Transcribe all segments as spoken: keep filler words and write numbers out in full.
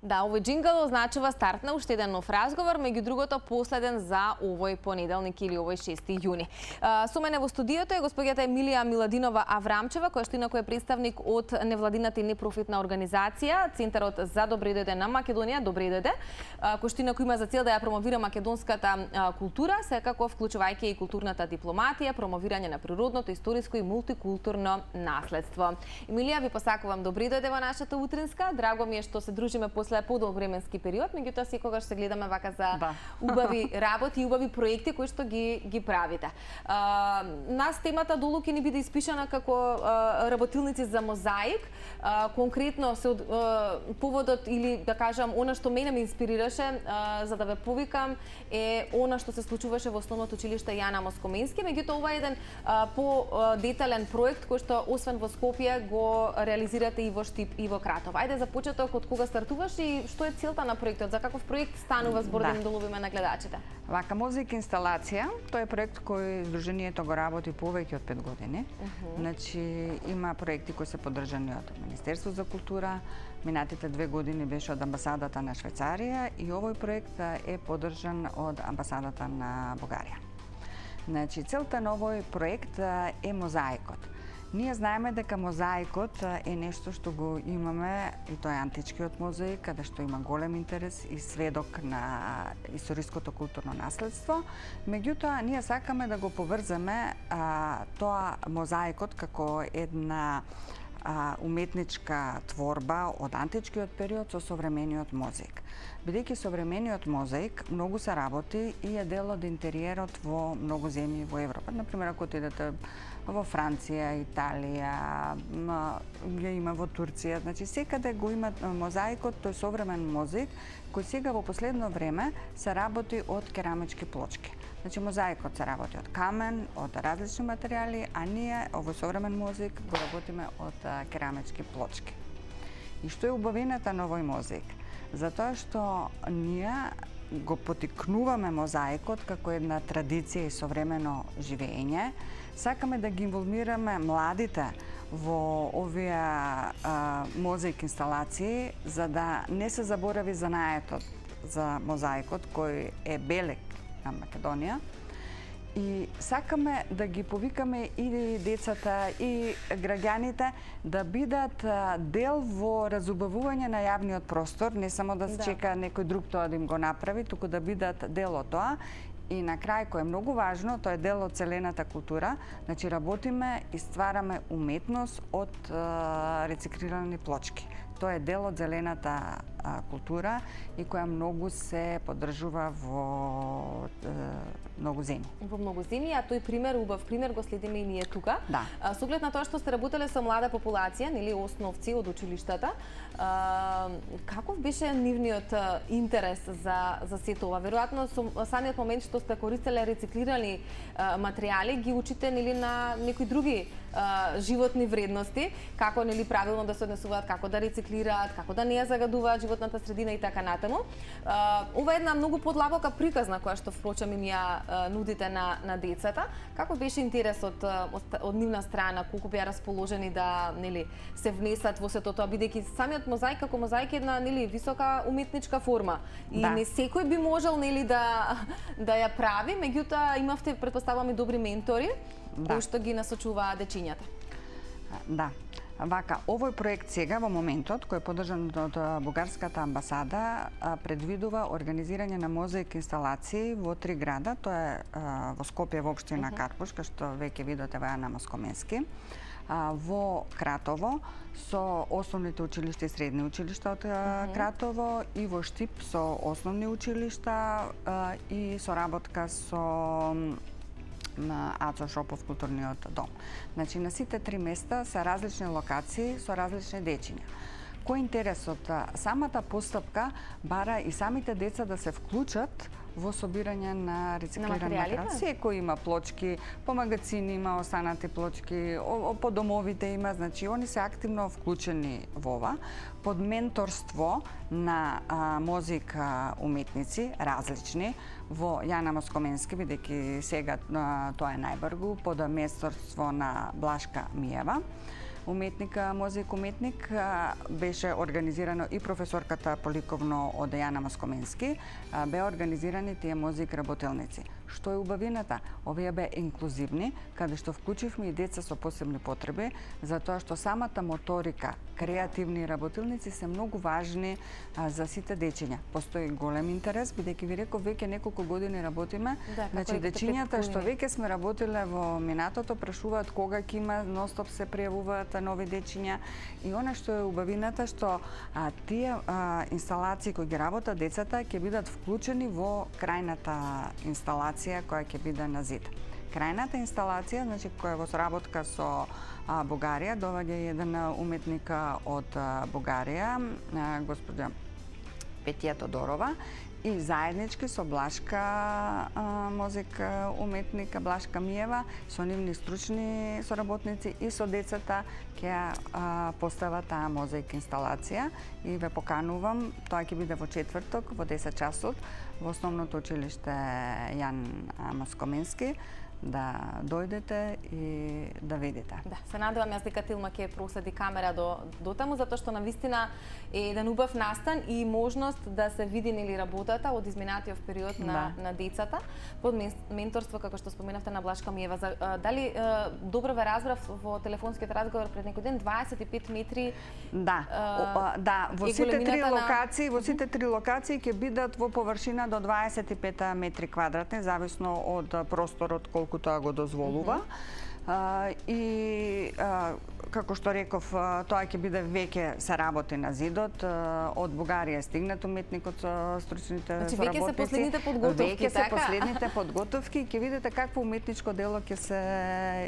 Да, овој джингл означува старт на уште еден нов разговор, меѓу другото последен за овој понеделник или овој шести јуни. Со мене во студиото е господјата Емилија Миладинова Аврамчева, која што инаку е представник од невладината и непрофитна организација Центарот за добро дојде на Македонија, добро дојде, кој што инаку има за цел да ја промовира македонската култура, секако вклучувајќи и културната дипломатија, промовирање на природното, историско и мултикултурно наследство. Емилија, ви посакувам добро дојде во нашата утринска. Драго ми е што се дружиме после подолг временски период, меѓутоа секогаш се гледаме вака за да. убави работи и убави проекти кои што ги ги правите. А, нас темата долу ќе ни биде испишана како а, работилници за мозаик. А, конкретно се од, а, поводот или да кажам она што мене ме инспирираше а, за да ве повикам е она што се случуваше во Основното училиште Јана Москоменски, меѓутоа ова е еден а, по детален проект кој што освен во Скопје го реализирате и во Штип и во Кратово. Ајде за почеток, од кога стартуваш и што е целта на проектот? За каков проект станува збор да им доловиме на гледачите? Вака мозаик инсталација, тоа е проект кој Сдруженијето го работи повеќе од пет години. Uh -huh. Значи има проекти кои се поддржани од Министерство за култура, минатите две години беше од амбасадата на Швајцарија и овој проект е поддржан од амбасадата на Бугарија. Значи целта на овој проект е мозаикот. Ние знаеме дека мозаикот е нешто што го имаме, и тоа е античкиот мозаик, каде што има голем интерес и сведок на историското културно наследство. Меѓутоа, ние сакаме да го поврземе а, тоа мозаикот како една а, уметничка творба од античкиот период со современиот мозаик. Бидејќи современиот мозаик многу се работи и е дел од интериерот во многу земји во Европа. Например, ако отидете во Франција, Италија, ја има во Турција, значи секаде го има мозаикот, тој современ мозаик, кој сега во последно време се работи од керамички плочки. Значи мозаикот се работи од камен, од различни материјали, а ние овој современ мозаик го работиме од керамички плочки. И што е убавината на овој мозаик? Затоа што ние го потикнуваме мозаикот како една традиција и современо живење. Сакаме да ги инволвираме младите во овие а, мозаик инсталации, за да не се заборави занаетот за мозаикот, кој е белек на Македонија. И сакаме да ги повикаме и децата, и граѓаните да бидат дел во разубавување на јавниот простор, не само да се да. чека некој друг тоа да им го направи, туку да бидат дел од тоа. И на крај, кој е многу важно, тоа е дел од целената култура, значи работиме и ствараме уметност од е, рециклирани плочки. Тоа е дел од зелената а, култура и која многу се поддржува во е, многу земји. Во многу земји, а тој пример, убав пример, го следиме и ние тука. Да. А, со оглед на тоа што сте работеле со млада популација, нели основци од училиштата, а, каков беше нивниот интерес за за сето ова? Веројатно со самиот момент што сте користеле рециклирани а, материјали, ги учите нели на некои други а, животни вредности, како нели правилно да се однесуваат, како да рециклираат, како да не ја загадуваат животната средина и така натаму. А, ова е една многу подлабока приказна која што впрочем им ја нудите на на децата. Како беше интересот од, од нивна страна, колку беа расположени да нели се внесат во сето тоа, бидејќи самиот мозаик како мозаик е една нели висока уметничка форма и да. не секој би можел нели да да ја прави, меѓутоа имавте претпоставувам и добри ментори да. кои што ги насочуваат дечињата. Да. Вака, овој проект сега во моментот, кој е поддржан од Бугарската амбасада, предвидува организирање на мозаик инсталации во три града, тоа е во Скопје во општина uh -huh. Карпуш, кај што веќе видите во Јана Москоменски, во Кратово со основните училишта и средни училишта од uh -huh. Кратово и во Штип со основни училишта и соработка со на Ацо Шопов културниот дом. Значи на сите три места се различни локации со различни дечиња. Кој е интересот? Самата постапка бара и самите деца да се вклучат во собирање на рециклиран материјал. Секој има плочки, по магазини има останати плочки, по домовите има, значи они се активно вклучени во ова, под менторство на а, мозик а, уметници, различни, во Јана Москоменски, бидејќи сега а, тоа е најбргу, под менторство на Блашка Миева, уметника, мозик уметник, беше организирано и професорката по ликовно од Јана Москоменски, беа организирани тие мозик работелници. Што е убавината? Овие беа инклузивни, каде што вклучивме и деца со посебни потреби, затоа што самата моторика, креативни работилници се многу важни а, за сите дечиња. Постои голем интерес, бидејќи ви реков веќе неколку години работиме. Да, значи дечињата што веќе сме работиле во минатото прашуваат кога ќе има, ностоп се пријавуваат нови дечиња, и она што е убавината што а, тие а, инсталации кои ги работат децата ќе бидат вклучени во крајната инсталација која ќе биде на зид. Крајната инсталација, значи која е во соработка со а, Бугарија, доаѓа еден уметник од а, Бугарија, а, господја Петија Тодорова, и заеднички со Блашка а, мозик уметника Блашка Миева, со нивни стручни соработници и со децата ќе постават таа мозаик инсталација, и ве поканувам, тоа ќе биде во четврток во десет часот во основното училиште Јан Москоменски, да дојдете и да видите. Да, се надевам јас дека Тилма ќе проследи камера до до таму, затоа што навистина е еден убав настан и можност да се види нели работата од изминатиот период на да. на децата под менторство, како што споменавте, на Блашка Миева. За, а, дали а, добро ве разбрав во телефонскиот разговор пред некој ден, дваесет и пет метри. Да, а, да, во сите три локации, на... во сите три локации ќе бидат во површина до дваесет и пет метри квадратни, зависно од просторот колку тоа го дозволува. Mm-hmm. Uh, и uh, како што реков, uh, тоа ќе биде веќе се работи на зидот. Uh, од Бугарија стигнат уметникот со стручните значи, соработници. Веќе се последните подготовки, веќе се така? последните подготовки, ќе видите какво уметничко дело ќе се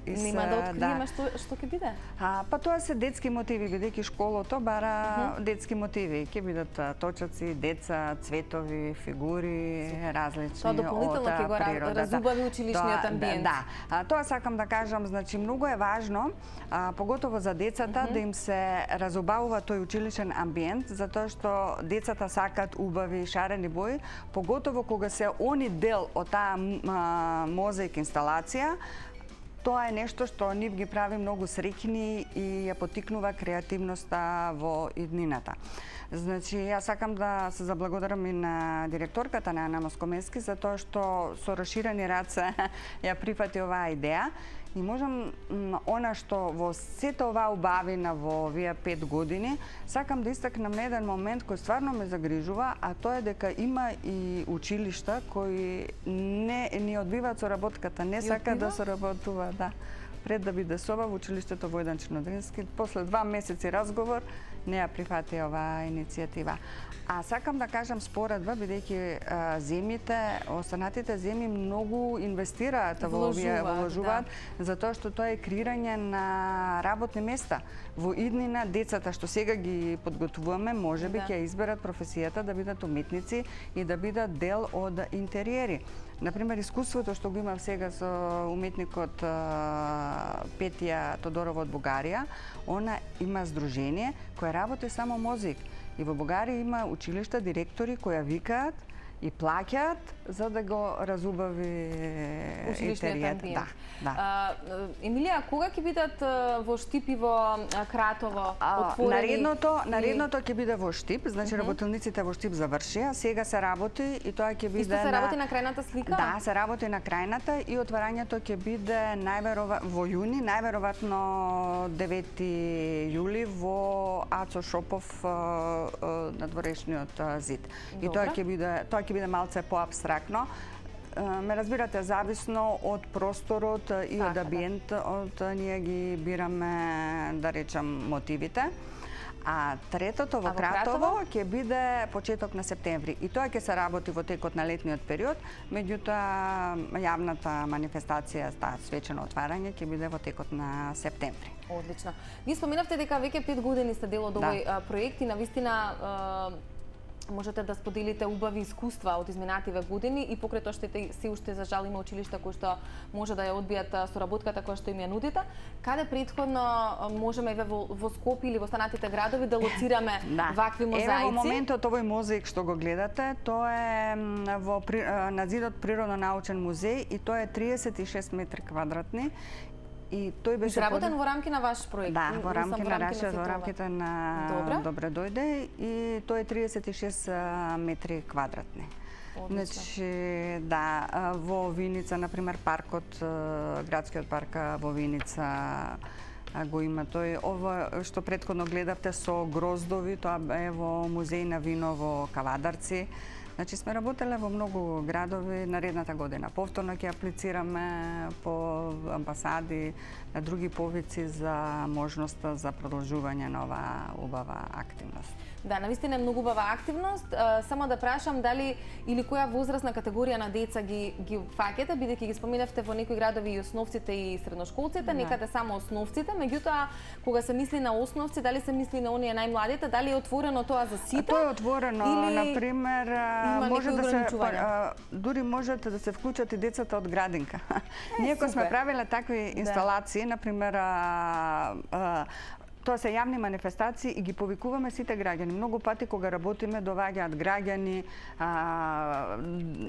из... Нема да откриеме да. што што ќе биде? А, па тоа се детски мотиви, бидејќи школото бара uh-huh. детски мотиви. Ќе бидат точаци, деца, цветови, фигури, различни. Тоа дополнително ќе го природа, разубави училишниот амбиент. Да, да. А, тоа сакам да кажам. Значи, многу е важно, а, поготово за децата, mm-hmm. да им се разубавува тој училишен амбиент, затоа што децата сакат убави, шарени бои, поготово кога се они дел од таа мозаик инсталација. Тоа е нешто што нив ги прави многу среќни и ја поттикнува креативноста во иднината. Значи, јас сакам да се заблагодарам и на директорката на Јана Москоменски за тоа што со расширени раце ја прифати оваа идеја. И можам, она што во сето оваа убавина во овие пет години, сакам да истакнам на еден момент кој стварно ме загрижува, а тоа е дека има и училишта кои не ни одбиваат соработката, не сакаат да соработуваат, да. Пред да биде соба во училиштето Војдан Чернодрински, после два месеци разговор, не ја прифати оваа иницијатива. А сакам да кажам споредба, бидејќи земјите, останатите земји многу инвестираат во овие, вложуваат, да. Затоа што тоа е креирање на работни места. Во иднина децата што сега ги подготвуваме, можеби да. Ќе изберат професијата да бидат уметници и да бидат дел од интериери. Например, искуството што го имам сега со уметникот Петија Тодорова од Бугарија, она има здружение кое работи само мозик. И во Бугарија има училишта, директори кои викаат и плаќаат за да го разубави интеријет. Да, да. А, Емилија, кога ќе бидат во Штип и во Кратово отворени? Наредното, наредното ќе биде во Штип, значи uh-huh. работилниците во Штип завршија, сега се работи и тоа ќе биде. Исто се работи на крајната слика? Да, се работи на крајната и отварањето ќе биде најверојатно во јуни, најверојатно девети јули во Ацо Шопов на дворешниот зид. Добре. И тоа ќе биде, тоа ќе биде малце поабстрактно. Ме разбирате, зависно од просторот и од амбиентот, ние ги бираме, да речам, мотивите. А третото во Кратово ќе биде почеток на септември. И тоа ќе се работи во текот на летниот период, меѓутоа јавната манифестација, таа свечено отварање ќе биде во текот на септември. Одлично. Ви споменавте дека веќе пет години сте дел од овој да. проект и навистина можете да споделите убави искуства од изминативе години и покрај тоа што се уште за жал има училишта кои што може да ја одбијат соработката која што им ја нудите. Каде претходно можеме еве во, во Скопје или во останатите градови да лоцираме да. вакви мозаици? Еве во моментот овој мозаик што го гледате, тоа е во на зидот Природно-научен музеј и тоа е триесет и шест метри квадратни. и тој беше изработен во рамки на ваш проект. Да, во рамки на нашиот, во рамките на Добре. Добре дојде и тој е триесет и шест метри квадратни. Значи, да, во Виница, например, паркот, градскиот парк во Виница го има тој. Ова што претходно гледавте со гроздови, тоа е во музеј на вино во Кавадарци. Значи сме работеле во многу градови наредната година. Повторно ќе аплицираме по амбасади, на други повици за можноста за продолжување на оваа убава активност. Да, навистина е многу убава активност. Само да прашам дали или која возрастна категорија на деца ги ги фаќате, бидејќи ги споменавте во некои градови и основците и средношколците, да. Некаде само основците, меѓутоа кога се мисли на основци, дали се мисли на оние најмладите, дали е отворено тоа за сите? Тоа е отворено, или на пример, може да се дури можете да се вклучат и децата од градинка. Ние кога сме правиле такви инсталации, на пример, тоа се јавни манифестации и ги повикуваме сите граѓани. Многу пати кога работиме доваѓаат граѓани, а,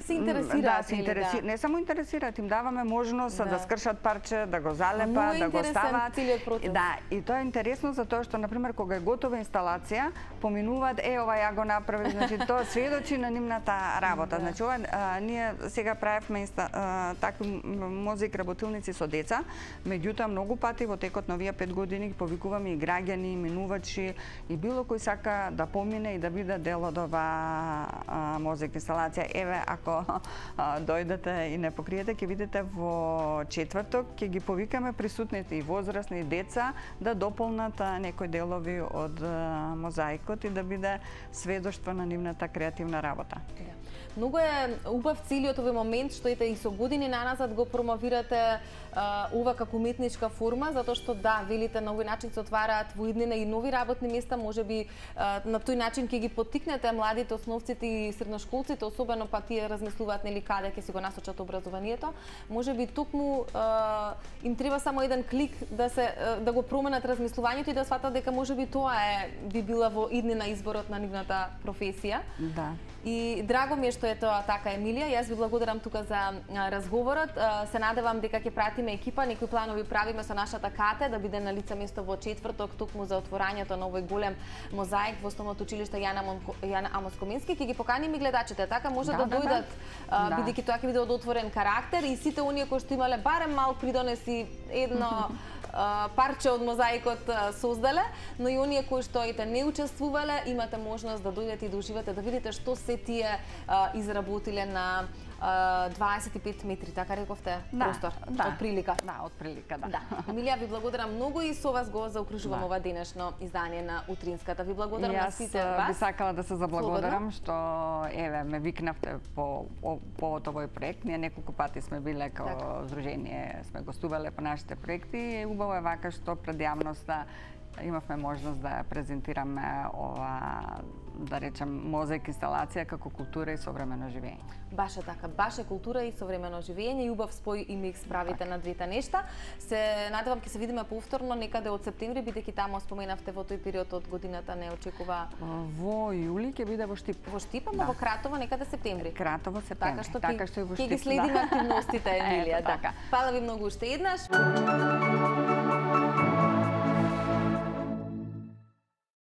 се интересираат, да, се интереси... да. Не само интересираат, им даваме можност да, да скршат парче, да го залепат, да го стават. Да, и тоа е интересно за тоа што на пример кога е готова инсталација, поминуваат е ова ја го направи, значи тоа сведочи на нивната работа. Да. Значи ова а, ние сега правевме инста... а, такви мозик работилници со деца, меѓутоа многу пати во текот на овие пет години ги повикуваме и граѓани, минувачи и било кој сака да помине и да биде дел од оваа мозик инсталација. Еве, ако а, дојдете и не покриете, ќе видите во четврток ќе ги повикаме присутните и возрастни и деца да дополнат а, некои делови од а, мозаикот и да биде сведоштво на нивната креативна работа. Многу е убав целиот овој момент што ете и со години наназад го промовирате а, ова како уметничка форма, затоа што да, велите на овој начин се отвараат во иднина и нови работни места, можеби а, на тој начин ќе ги поттикнете младите основците и средношколците, особено па тие размислуваат нели каде ќе си го насочат образованието. Можеби токму а, им треба само еден клик да се да го променат размислувањето и да сватат дека можеби тоа е би била во иднина изборот на нивната професија. Да. И драго ми е што е тоа така, Емилија. Јас ви благодарам тука за разговорот. Се надевам дека ќе пратиме екипа, некои планови правиме со нашата Кате да биде на лице место во четврток токму за отворањето на овој голем мозаик во Основното училиште Јана, Монко... Јана Амос Комински. Ќе ги поканиме гледачите, така може да, да, да дојдат, да, да. Бидејќи тоа ќе биде од отворен карактер и сите оние кои што имале барем мал придонеси едно парче од мозаикот создале, но и оние кои што ете не учествувале, имате можност да дојдете и да уживате, да видите што се тие а, изработиле на а, дваесет и пет метри, така рековте, да, простор, да, од прилика. Да, од прилика, да. да. Емилија, ви благодарам многу и со вас го заокружувам да. ова денешно издание на Утринската. Ви благодарам на сите вас. Јас би сакала да се заблагодарам што еве ме викнавте по по овој проект. Ние неколку пати сме биле како така. Здружение, сме гостувале по нашите проекти и убаво е вака што пред јавноста имавме можност да презентираме ова, да речем, мозаик инсталација како култура и современо живење. Баш е така, баш е култура и современо живење и убав спој и микс правите так. На двете нешта. Се надевам ќе се видиме повторно некаде од септември, бидејќи таму споменавте во тој период од годината не очекува. Во јули ќе биде во Штип. Во Штип, ама да. Во Кратово некаде септември. Кратово септември. Така што така што и во Штип. Ќе ги следиме да. Активностите, Емилија. Ето, така. Фала ви многу уште еднаш.